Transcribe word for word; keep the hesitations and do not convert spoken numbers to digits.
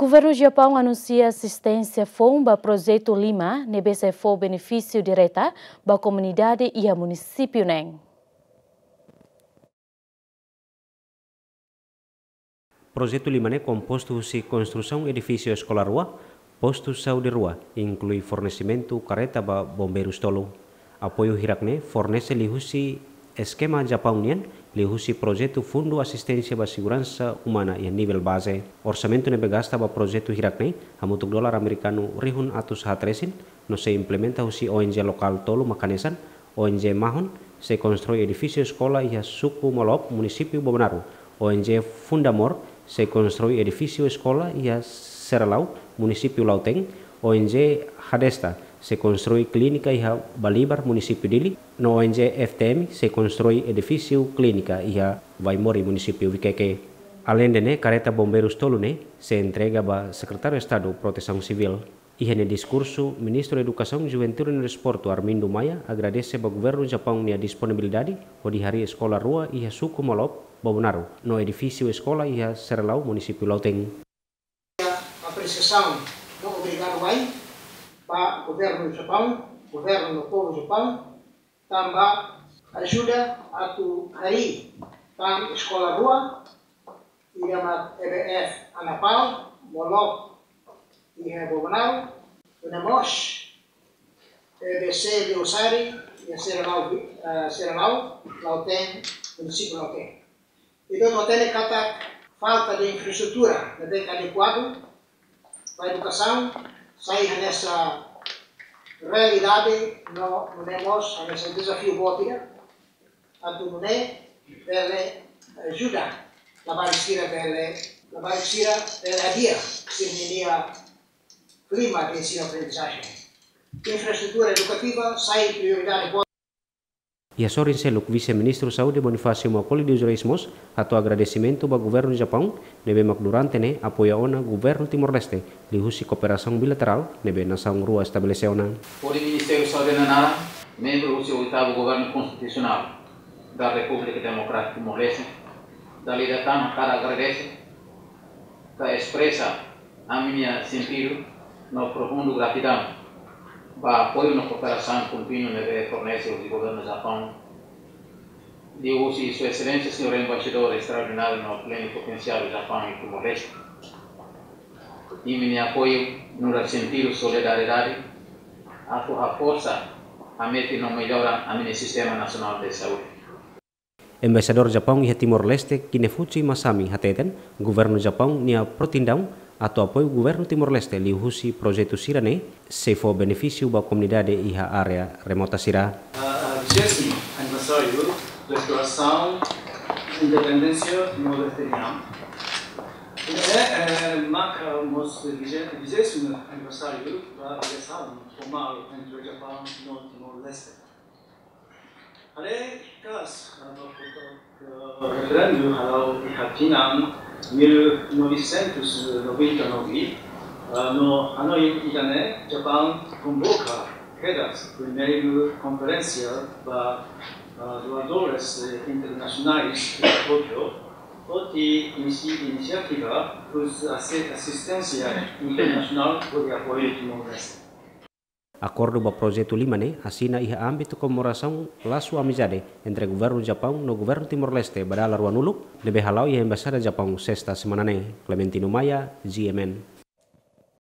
Governu Japaun anunsia asisténsia foun ba projetu lima ne'ebé sei fó benefísiu direta ba komunidade iha munisípiu neen. Projetu lima ne'e kompostu husi konstrusaun edifísiu eskola rua, postu saúde rua, inklui fornesimentu kareta ba bombeirus tolu. Apoiu hirak ne'e fornese liuhusi eskema Japaun nian, liuhusi projetu Fundu Asisténsia ba Seguransa Umana iha nivel baze. Orsamentu ne'ebé gasta ba projetu hirak ne'e hamutuk dolar amerikanu rihun atus haat resin, no sei implementa husi O N G lokál tolu mak hanesan, O N G Mahon sei konstrui edifísiu eskola iha suku Molop, munisípiu Bobonaro, O N G Fundamor sei konstrui edifísiu eskola iha Seralau, munisípiu Lautém, O N G Hadesta sei konstrui klínika iha Balibar, munisípiu Dili, no O N G F T M sei konstrui edifísiu klínika iha Vaimori, munisípiu Vikeke. Aleinde ne'e, kareta bombeirus tolu ne'e sei entrega ba Sekretáriu Estadu Protesaun Sivíl. Iha nia diskursu, Ministru Edukasaun, Juventude no Desportu, Armindo Maia, agradese ba Governu Japaun nia disponibilidade hodi harii eskola rua iha suku Molop, Bobonaro, no edifísiu eskola iha Seralau, munisípiu Lautém. Apresiasaun no obrigadu wa'in ba Governu Japaun, Governu no povu Japaun, tanba ajuda atu harii tan eskola rua, ida mak E B F Anapau, Molop, iha Bobonaro, no mós E B C Leusari, iha Seralau, eh, Seralau, Lautém, munisípiu Lautém. Entaun, no tene katak falta de infraestrutura ne'ebé adekuadu ba edukasaun, sai hanesan realidade no, no mós hanesan dezafiu boot ida, atu nune'e bele ajuda labarik sira bele, labarik sira bele hadi'a sira-nia klima de ensino-aprendizajen. Infraestrutura edukativa sai prioridade boot. Iha sorin seluk, Vise-Ministru Saúde Bonifácio Macaulay dos Reis mós hato'o agradesimentu ba Governu Japaun ne'ebé mak durante ne'e apoia ona Governu Timor-Leste liuhusi kooperasaun bilaterál ne'ebé nasaun rua estabelese ona. Hodi Ministériu Saúde nia naran, membru husi oitavu Governu Konstitusionál da Repúblika Demokrátika Timor-Leste, dala ida tan hakarak agradese ka espresa ami-nia sentidu no profundu gratidaun ba apoiu no kooperasaun kontínua ne'ebé fornese husi Governu Japaun, liuhusi Sua Exelénsia Señór Embaixadór Estraordináriu no Plenipotensiáriu Japaun iha Timor-Leste. Imi-nia apoiu nu'udar sentidu solidariedade atu haforsa, hametin no mellora ami-nia Sistema Nasionál de Saúde. Embaixadór Japaun iha Timor-Leste, Kinefuchi Masami, hateten, Governu Japaun nia prontidão atu apoiu Governu Timor-Leste liuhusi projetu sira-ne'e sei fó benefísiu ba komunidade iha área remota sira. Ah, vigésimo aniversário da declaração de independência nordestiniana. E, eh, marca o nosso vigésimo aniversário da ligação formal entre o Japão e Timor-Leste. Haree katak, ah, referendu hala'o iha tinan mil novecentos e noventa e nove, ah, no Hanoi ida-ne'e, Japaun konvoka kedas primeiru konferénsia ba, ah, doadores, eh, internasionais iha Tókio, hodi inisi-, inisiativa husi asi-, asisténsia internasionál hodi apoiu Timor-Leste. Akordu ba projetu lima ne'e asina iha ámbitu komemorasaun lasu amizade entre Governu Japaun no Governu Timor-Leste ba dala ruanulu, ne'ebé hala'o iha Embaixada Japaun, Sesta semana ne'e. Clementino Maia, G M N.